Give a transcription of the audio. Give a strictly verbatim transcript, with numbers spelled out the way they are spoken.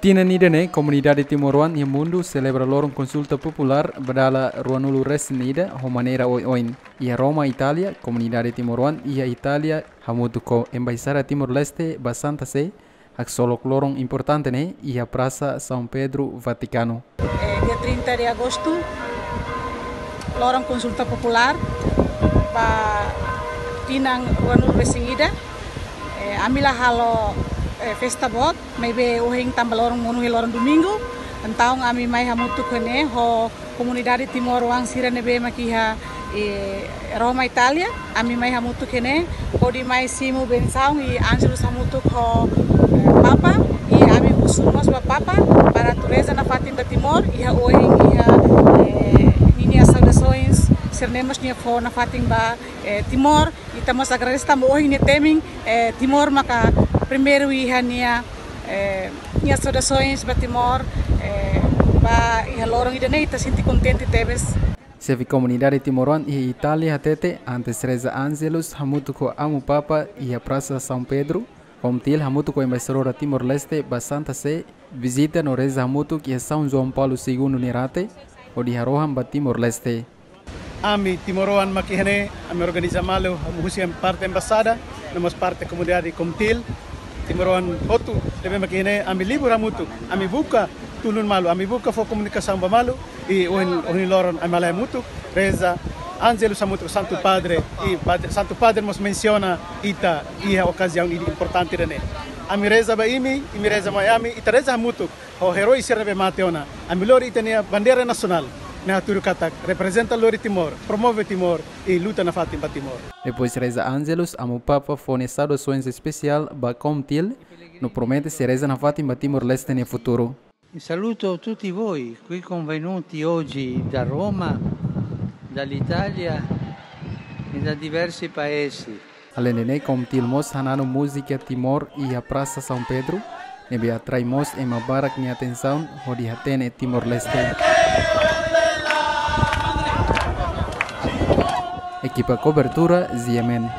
Tinan ida-ne'e, komunidade timoroan iha mundu selebra loron konsulta populár ba dala ruanulu resin ida ho maneira oioin. Iha Roma, Itália, komunidade timoroan iha Itália hamutuk ho Embaixada Timor-Leste ba Santa Sé haksolok loron importante ne'e iha Prasa São Pedro, Vatikanu. Eh, dia trinta de agosto, loron konsulta populár ba tinan ruanulu resin ida. Eh, ami la halo, eh, festa boot, maibé ohin tanba loron monu iha loron domingu. Entaun ami mai hamutuk iha ne'e ho komunidade timoroan sira ne'ebé mak iha, eh, Roma, Itália. Ami mai hamutuk iha ne'e hodi mai simu bensaun i Angelus hamutuk ho, eh, Papa. I ami husu mós ba Papa para atu reza nafatin ba Timor, iha ohin iha, eh, ninia saudasoens sira-ne'e mós nia fó nafatin ba, eh, Timor. Ita mós agradese tanba ohin nia temi, eh, Timor maka primeiru iha nia, eh, nia saudasoens ba Timor, eh, ba iha loron ida-ne'e ita sente kontente tebes. Xefe komunidade timoroan iha Itália hatete, antes reza Angelus hamutuk ho Amu Papa iha Prasa São Pedro, KOMTIL hamutuk ho Embaixadora Timor-Leste ba Santa Sé vizita no reza hamutuk iha São João Paulo Segundo nia rate, hodi harohan ba Timor-Leste. Ami timoroan mak iha ne'e, ami organiza malu, ami husi parte embaixada, no mós parte komunidade KOMTIL, timoroan hotu ne'ebé mak iha ne'e, ami libur hamutuk, ami buka tulun malu, ami buka fó komunikasaun ba malu, i ohin, ohin loron ami halai hamutuk, reza Angelus hamutuk Santu Padre, i Padre, Santu Padre mós mensiona ita iha okaziaun ida importante ida-ne'e. Ami reza ba imi, imi reza mai ami, ita reza hamutuk ho eroi sira ne'ebé mate ona. Ami lori ita-nia bandeira nasionál, ne'e hatudu katak reprezenta lori Timor, promove Timor, i luta nafatin ba Timor. Depois reza Angelus, Amu Papa fó nia saudasoens espesiál ba KOMTIL, no promete sei reza nafatin ba Timor-Leste nia futuru. Saluto tutti voi qui convenuti oggi da Roma, dall'Italia e da diversi paesi. Alende ne'e, KOMTIL mós hananu múzika Timor iha Prasa São Pedro, ne'ebé atrai mós ema barak nia atensaun hodi hatene Timor-Leste. Ekipa kobertura, Z M N.